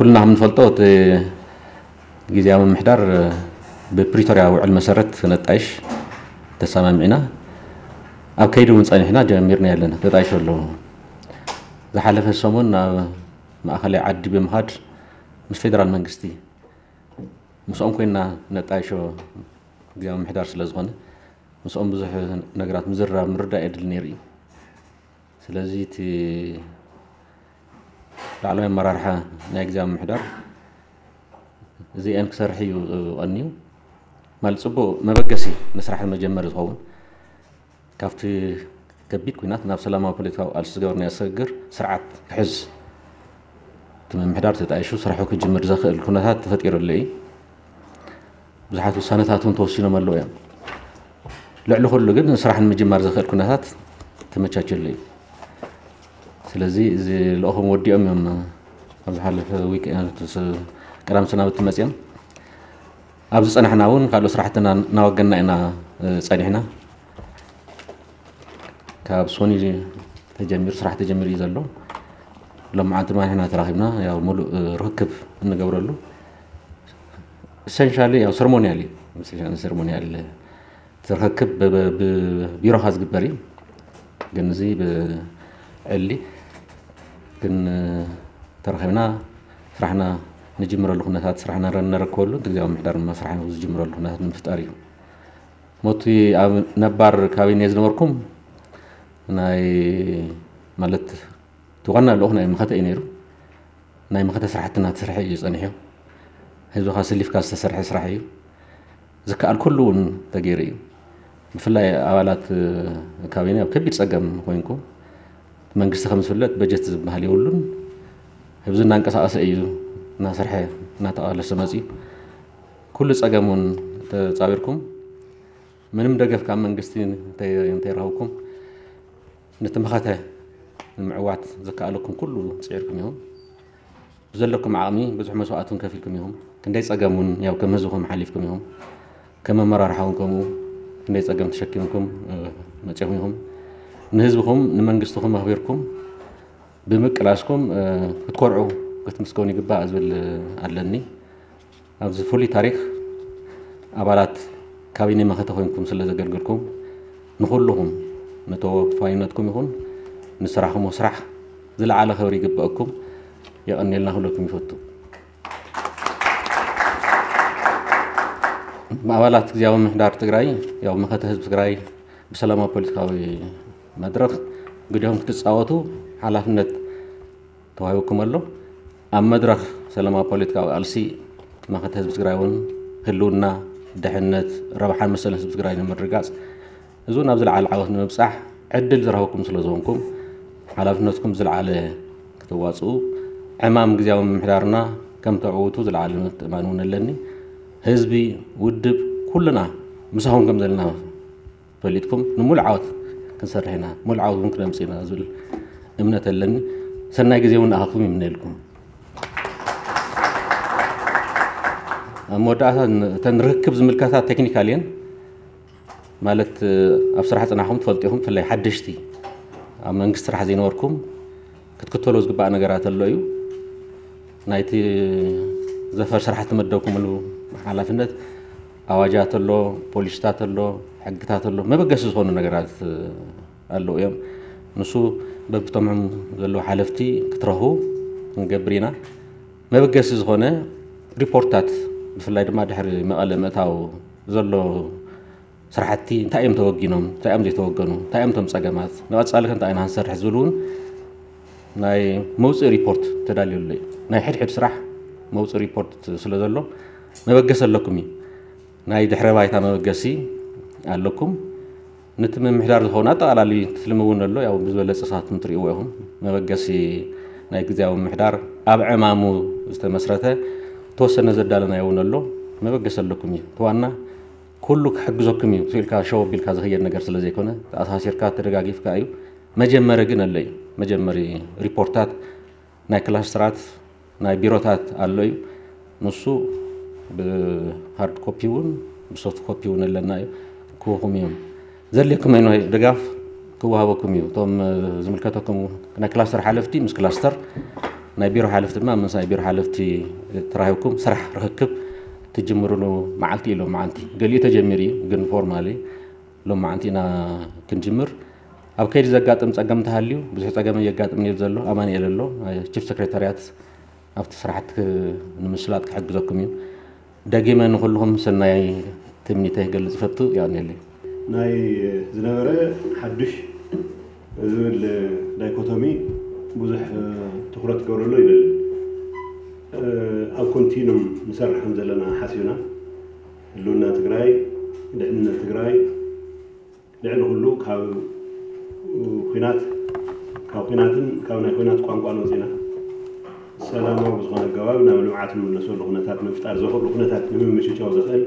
ኩልና ከም ንፈልጦ እቲ ግዝያዊ ምምሕዳር ብፕሪቶርያ ውዕል መሰረት ነጣይሽ ተሰማሚዕና ኣብ ከይዲ እውን ጸኒሕና ጀሚርና ኣለና። ተጣይሾ ኣለዉ። ዝሓለፈ ሰሙን ናብ ማእኸላይ ዓዲ ብምኻድ ምስ ፌደራል መንግስቲ ምስኦም ኮይና ነጣይሾ ግዝያዊ ምምሕዳር ስለ ዝኾነ ምስኦም ብዙሕ ነገራት ምዝርራብ ምርዳእ የድሊ ነይሩ እዩ። ስለዚ እቲ ላዕለዋይ ኣመራርሓ ናይ ግዝያዊ ምምሕዳር እዚአን ክሰርሕ እዩ ቀንዩ። ማለት ጽቡቕ መበገሲ ንስራሕ መጀመሪ ዝኸውን ካብቲ ከቢድ ኩናት ናብ ሰላማዊ ፖለቲካዊ ቃልሲ ዝገበርናዮ ስግግር ስርዓት ክሕዝ እቲ ምምሕዳር ተጣይሹ ስራሑ ክጅምር ዘኽእል ኩነታት ተፈጢሩሉ እዩ። ብዙሓት ውሳነታት እውን ተወሲኖም ኣለዉ እዮም። ልዕሊ ኩሉ ግን ስራሕ ንምጅማር ዘኽእል ኩነታት ተመቻችሉ እዩ። ስለዚ እዚ ልእኹም ወዲኦም እዮም ኣብ ዝሓለፈ ዊክ ቀዳም ሰናብቲ መፅኦም ኣብ ዝፀናሕና እውን ካልኦት ስራሕትና እናወገና ኢና ፀኒሕና። ካብ ሶኒ ተጀሚሩ ስራሕ ተጀሚሩ እዩ ዘሎ። ሎመዓንቲ ድማ ንሕና ተራኺብና ያው ሙሉእ ርክክብ እንገብረሉ ኢሰንሻሊ ያው ሰርሞኒያል እዩ። ሰርሞኒያል ትርክክብ ብቢሮኻ ዝግበር እዩ። ግን እዚ ብዕሊ ግን ተረኺብና ስራሕና ንጅምረሉ ኩነታት ስራሕና ነረክበሉ ግዜያዊ ምሕዳር ድማ ስራሕ ዝጅምረሉ ኩነታት ንምፍጣር እዩ። ሞቲ ኣብ ነባር ካቢኔ ዝነበርኩም ናይ ማለት እቲ ዋና ልኡኽ ናይ መኸተ እዩ ነይሩ። ናይ መኸተ ስራሕትና ተሰርሐ እዩ ጸኒሑ። ህዝብኻ ስሊፍካ ዝተሰርሐ ስራሕ እዩ። ዝከኣል ኩሉ እውን ተገይሩ እዩ። ብፍላይ ኣባላት ካቢነ ኣብ ከቢድ ጸገም ኮይንኩም መንግስቲ ከም ዝፍለጥ በጀት ዝበሃል የብሉን። ህዝቢ እናንቀሳቐሰ እዩ እናሰርሐ እናተቓለሰ መፅዩ። ኩሉ ጸገም እውን ተጻዊርኩም ምንም ደገፍ ካብ መንግስቲ እንተይረኸብኩም ነቲ መኸተ ንምዕዋት ዘከኣለኩም ኩሉ ፅዒርኩም ኢኹም። ብዘለኩም ዓቕሚ ብዙሕ መስዋእትን ከፊልኩም ኢኹም። ክንደይ ፀገም እውን ያው ከም ህዝብኹም ሓሊፍኩም ኢኹም። ከም ኣመራርሓ እውን ከምኡ ክንደይ ፀገም ተሸኪምኩም መፂኹም ኢኹም። ንህዝብኹም ንመንግስትኹም ኣኽቢርኩም ብምቅላስኩም ክትኮርዑ ክትምስገኑ ይግባእ ዝብል ኣለኒ። ኣብዚ ፍሉይ ታሪኽ ኣባላት ካቢኔ መኸተ ኮይንኩም ስለ ዘገልገልኩም ንኹልኹም ንተወፋይነትኩም ይኹን ንስራሕኹም ስራሕ ዝለዓለ ክብሪ ይግበአኩም። የቐንየልና ክብለኩም ይፈቱ። ኣባላት ግዝያዊ ምምሕዳር ትግራይ ያው መኸተ ህዝቢ ትግራይ ብሰላማዊ ፖለቲካዊ መድረኽ ግዲኦም ክትፃወቱ ሓላፍነት ተዋሂቡኩም ኣሎ። ኣብ መድረኽ ሰላማዊ ፖለቲካዊ ቃልሲ መኸተ ህዝቢ ትግራይ እውን ህልውና፣ ድሕነት፣ ረብሓን መሰልን ህዝቢ ትግራይ ንምርግጋፅ እዚ እውን ኣብ ዝለዓለ ዓወት ንምብፃሕ ዕድል ዝረኸብኩም ስለ ዝኾንኩም ሓላፍነትኩም ዝለዓለ ክትዋፅኡ ዕማም ግዝያዊ ምምሕዳርና ከም ተዕውቱ ዝለዓለ ምትእማን እውን ኣለኒ። ህዝቢ፣ ውድብ፣ ኩልና ምሳኹም ከም ዘለና ፈሊጥኩም ንሙሉእ ዓወት ክንሰርሕ ኢና፣ ሙሉእ ዓወት እውን ክነምፅእ ኢና ዝብል እምነት ኣለኒ። ሰናይ ግዜ እውን ንኣኻትኩም ይምነየልኩም። ኣብ መወዳእታ እተን ርክክብ ዝምልከታ ቴክኒካል እየን። ማለት ኣብ ስራሕ ፅናሕኩም ትፈልጡ ኢኹም፣ ብፍላይ ሓደሽቲ ኣብ መንግስቲ ስራሕ ዘይነበርኩም ክትክተሎ ዝግባእ ነገራት ኣሎ እዩ። ናይቲ ዘፈር ስራሕ እተመደብኩምሉ ሓላፍነት ኣዋጃት ኣሎ፣ ፖሊሲታት ኣሎ፣ ሕግታት ኣሎ፣ መበገሲ ዝኾኑ ነገራት ኣለዉ እዮም። ንሱ በብተምዖም ዘለዉ ሓለፍቲ ክትረኽቡ ክንገብር ኢና። መበገሲ ዝኾነ ሪፖርትታት ብፍላይ ድማ ድሕሪ መቐለ ምእታው ዘሎ ስራሕቲ እንታይ እዮም ተወጊኖም፣ እንታይ እዮም ዘይተወገኑ፣ እንታይ እዮም እቶም ፀገማት፣ ንቐፃሊ ከ እንታይ ኢና ክንሰርሕ ዝብል እውን ናይ መውፅኢ ሪፖርት ተዳልየሉ እዩ። ናይ ሕድሕድ ስራሕ መውፅኢ ሪፖርት ስለ ዘሎ መበገሲ ኣለኩም እዩ። ናይ ድሕረ ባይታ መበገሲ ኣለኩም። ነቲ ምምሕዳር ዝኸውን ኣጠቓላሊ ትልሚ እውን ኣሎ። ያው ብዝበለፀ ሰዓት ትሪእዎ ኢኹም። መበገሲ ናይ ግዝያዊ ምምሕዳር ኣብ ዕማሙ ዝተመስረተ ተወሰነ ዘዳለናዮ እውን ኣሎ። መበገሲ ኣለኩም እዩ። እቲ ዋና ኩሉ ክሕግዘኩም እዩ ኢልካ ሸው ኣቢልካ ዝኽየድ ነገር ስለ ዘይኮነ ተኣሳሲርካ ተደጋጊፍካ እዩ። መጀመሪ ግን ኣሎ እዩ። መጀመሪ ሪፖርታት ናይ ክላስተራት ናይ ቢሮታት ኣሎ እዩ። ንሱ ብሃርድ ኮፒ እውን ብሶፍት ኮፒ እውን ኣለና እዩ። ክህቡኹም እዮም። ዘድልየኩም ኣይነት ድጋፍ ክወሃበኩም እዩ። እቶም ዝምልከተኩም ናይ ክላስተር ሓለፍቲ ምስ ክላስተር ናይ ቢሮ ሓለፍቲ ድማ ምስ ናይ ቢሮ ሓለፍቲ ተራኺብኩም ስራሕ ርክክብ ትጅምርሉ መዓልቲ እዩ ሎም መዓልቲ። ገሊኡ ተጀሚሩ እዩ፣ ግን ፎርማሊ ሎም መዓልቲ ኢና ክንጅምር። ኣብ ከይዲ ዘጋጥም ጸገም እንተሃልዩ፣ ብዙሕ ጸገም የጋጥም እዩ ዘሎ። ኣማኑኤል ኣሎ፣ ቺፍ ሴክሬታርያት ኣብቲ ስራሕቲ ንምስላጥ ክሕግዘኩም እዩ። ደጊመ ንኹልኹም ሰናይ ትምኒተይ ክገልጽ እፈቱ። የቐንየለይ። ናይ ዝነበረ ሓዱሽ ዝብል ዳይኮቶሚ ብዙሕ ትኹረት ክገብረሉ ይደሊ። ኣብ ኮንቲኑም ንሰርሕ ከም ዘለና ሓሲብና፣ ህልውና ትግራይ፣ ድሕንነት ትግራይ፣ ልዕሊ ኩሉ ካብ ኩናት፣ ካብ ኩናትን ካብ ናይ ኩናት ቋንቋን ወፂና ሰላማዊ ብዝኾነ ኣገባብ ናብ ልምዓት እንምለሰሉ ኩነታት ንምፍጣር ዘኽእሉ ኩነታት ንምምችቻው ዘኽእል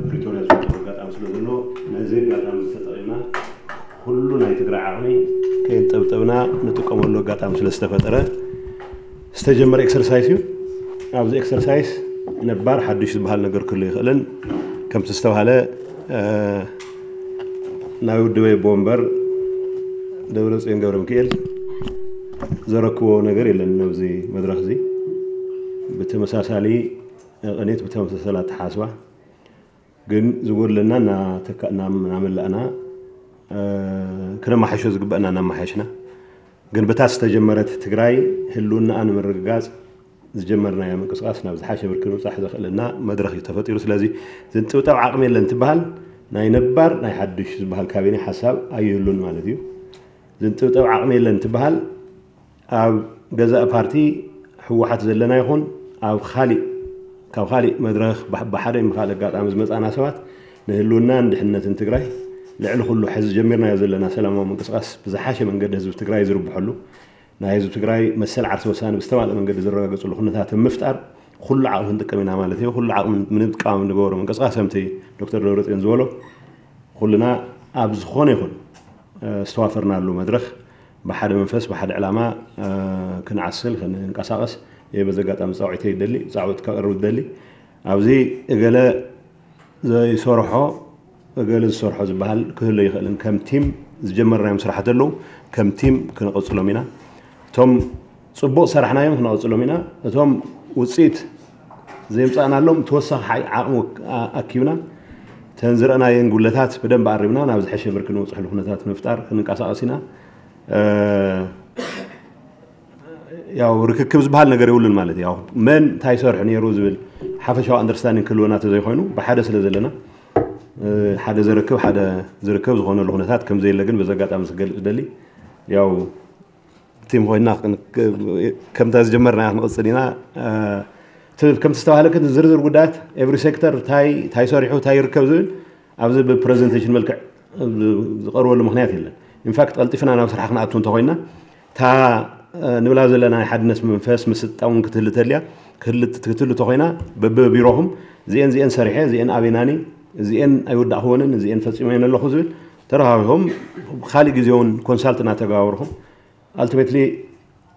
ፕሪቶርያ ዝፈጠሩ ኣጋጣሚ ስለ ዘሎ፣ ነዚ ኣጋጣሚ ተጠቒምና ኩሉ ናይ ትግራይ ዓቕሚ ከየንጠብጠብና ንጥቀመሉ ኣጋጣሚ ስለ ዝተፈጠረ ዝተጀመረ ኤክሰርሳይስ እዩ። ኣብዚ ኤክሰርሳይስ ነባር ሓዱሽ ዝበሃል ነገር ክህሉ ይኽእልን ከምቲ ዝተባሃለ ናይ ውድበይ ኣቦ ወንበር ደብረፅዮን ገብረ ሚካኤል ዘረክቦ ነገር የለን። ኣብዚ መድረኽ እዚ ብተመሳሳሊ ቅኒት ብተመሳሳሊ ኣተሓሳስባ ግን ዝጎድለና እናመላእና ክነማሓሾ ዝግበአና እናመሓሽና ግን ብታ ዝተጀመረት ትግራይ ህልውናኣ ንምርግጋፅ ዝጀመርናዮ ምንቅስቃስ ናብ ዝሓሸ ብርኪ ንምብፃሕ ዘኽእለና መድረኽ እዩ ተፈጢሩ። ስለዚ ዝንጥብጠብ ዓቕሚ የለን ትበሃል ናይ ነባር ናይ ሓዱሽ ዝበሃል ካቢኔ ሓሳብ ኣይህሉን ማለት እዩ። ዝንጥብጠብ ዓቕሚ የለን ትበሃል ኣብ ገዛእ ፓርቲ ህወሓት ዘለና ይኹን ኣብ ካሊእ ካብ ካሊእ መድረኽ ብሓደ ብካልእ ኣጋጣሚ ዝመፃና ሰባት ንህልውናን ድሕንነትን ትግራይ ልዕሊ ኩሉ ሕዚ ጀሚርናዮ ዘለና ሰላማዊ ምንቅስቃስ ብዝሓሸ መንገዲ ህዝቢ ትግራይ ዝርብሐሉ ናይ ህዝቢ ትግራይ መሰል ዓርሰ ውሳነ ብዝተማልእ መንገዲ ዝረጋገፅሉ ኩነታት ምፍጣር ኩሉ ዓቕሚ ክንጥቀም ኢና ማለት እዩ። ኩሉ ዓቕሚ ምንጥቃም ንገበሮ ምንቅስቃስ ከምቲ ዶክተር ደብረፅዮን ዝበሎ ኩልና ኣብ ዝኾነ ይኹን ዝተዋፈርናሉ መድረኽ ብሓደ መንፈስ ብሓደ ዕላማ ክንዓስል ክንንቀሳቐስ እየ በዚ ኣጋጣሚ ፃውዒተይ ይደሊ ፃውዒት ከቕርብ ይደሊ። ኣብዚ እገለ ዘይሰርሖ እገለ ዝሰርሖ ዝበሃል ክህሉ ይኽእልን ከም ቲም ዝጀመርናዮም ስራሕቲ ኣለዉ ከም ቲም ክንቕፅሎም ኢና። እቶም ፅቡቕ ሰራሕናዮም ክነቕፅሎም ኢና። እቶም ውፅኢት ዘምፃእናሎም ተወሳኺ ዓቕሚ ኣኪብና ተን ዝረእናየን ጉለታት ብደንብ ኣሪምና ናብ ዝሐሸ ብርኪ ንውፅሕሉ ኩነታት ንምፍጣር ክንንቀሳቐስ ኢና። ያው ርክክብ ዝበሃል ነገር የብሉን ማለት ያው መን እንታይ ሰርሑ ነይሩ ዝብል ሓፈሻዊ ኣንደርስታንዲንግ ክህልወና ተዘይኮይኑ ብሓደ ስለ ዘለና ሓደ ዘረክብ ሓደ ዝርከብ ዝኾነሉ ኩነታት ከም ዘየለ ግን በዚ ኣጋጣሚ ክገልፅ ደሊ ያው ቲም ኮይና ከምታ ዝጀመርና ክንቕፅል ኢና። ከምቲ ዝተባህለ ግን ዝርዝር ጉዳያት ኤቭሪ ሴክተር እንታይ እንታይ ሰሪሑ እንታይ ይርከብ ዝብል ኣብዚ ብፕሬዘንቴሽን መልክዕ ዝቐርበሉ ምክንያት የለን። ኢንፋክት ቀልጢፍና ናብ ስራሕ ክንኣቱ እንተኮይና እታ ንብላ ዘለና ናይ ሓድነት መንፈስ ምስጣ እውን ክትህሊ ተልያ ክትህሊ ተኮይና በብቢሮኹም እዚኤን እዚኤን ሰሪሐ እዚኤን ኣበይናኒ እዚኤን ኣይወዳእክወንን እዚኤን ፈፂመየን ኣለኹ ዝብል ተረኻቢኹም ብካሊእ ግዜ እውን ኮንሳልት እናተገባበርኩም ኣልቲሜትሊ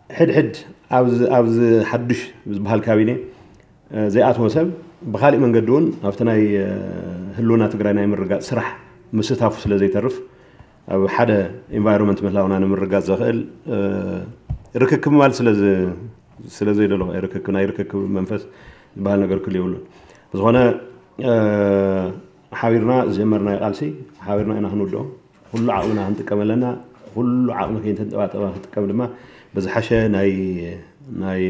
ሕድሕድ ኣብዚ ሓዱሽ ዝበሃል ካቢኔ ዘይኣተወ ሰብ ብካሊእ መንገዲ እውን ኣብቲ ናይ ህልውና ትግራይ ናይ ምርጋፅ ስራሕ ምስታፉ ስለ ዘይተርፍ ኣብ ሓደ ኢንቫይሮንመንት ምህላውና ንምርጋፅ ዘኽእል ርክክብ ማለት ስለ ዘይደለኹ ርክክብ ናይ ርክክብ መንፈስ ዝበሃል ነገር ክህሉ የብሉን። ብዝኾነ ሓቢርና ዝጀመርናዮ ቃልሲ ሓቢርና ኢና ክንውድኦ። ኩሉ ዓቕምና ክንጥቀም ኣለና። ኩሉ ዓቕሚ ከይተንጠባጠበ ክንጥቀም ድማ ብዝሓሸ ናይ ናይ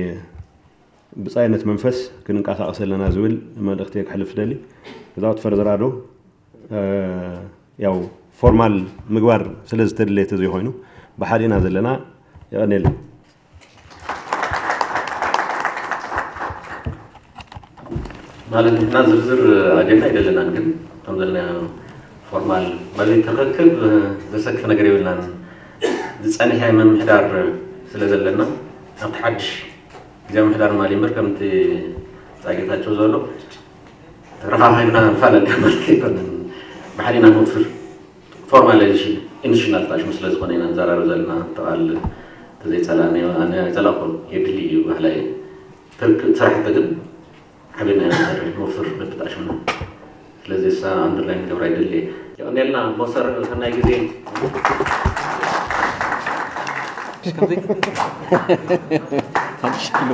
ብፃይነት መንፈስ ክንንቀሳቐስ ኣለና ዝብል መልእኽቲ ክሕልፍ ደሊ። ብዛውት ፈርዘራዶ ያው ፎርማል ምግባር ስለ ዝተድለየ ተዘይኮይኑ ብሓደ ኢና ዘለና። የቐንየልና። ማለት ንሕና ዝርዝር ኣጀንዳ ኣይደለናን፣ ግን ከም ዘለና ፎርማል ማለት ተረክብ ዘሰክፍ ነገር የብልናን። ዝጸንሐ ምምሕዳር ስለ ዘለና ኣብቲ ሓድሽ ግዜ ምምሕዳር ማሊ እምበር ከምቲ ጻጌታቸው ዘሎ ተረኻኺብና ንፋለጥ ማለት ኣይኮነን። ብሓዲና ንወፍር ፎርማላይዜሽን ኢንስቲቱሽናል ጣሽሙ ስለ ዝኾነ ኢና ንዘራረብ ዘለና። ተቓል ተዘይጸላእና ኣይጸላእኩን የድሊ እዩ ባህላ እዩ። ስራሕቲ ግን ሓቢርና ኢና ንሰርሕ ንወፍር በብጣሽሙና። ስለዚ እሳ ኣንደርላይን ገብራ ይደሊ። የቐንየልና ሞሰር ሰናይ ግዜ። ከምዚ ሓሙሽተ ኪሎ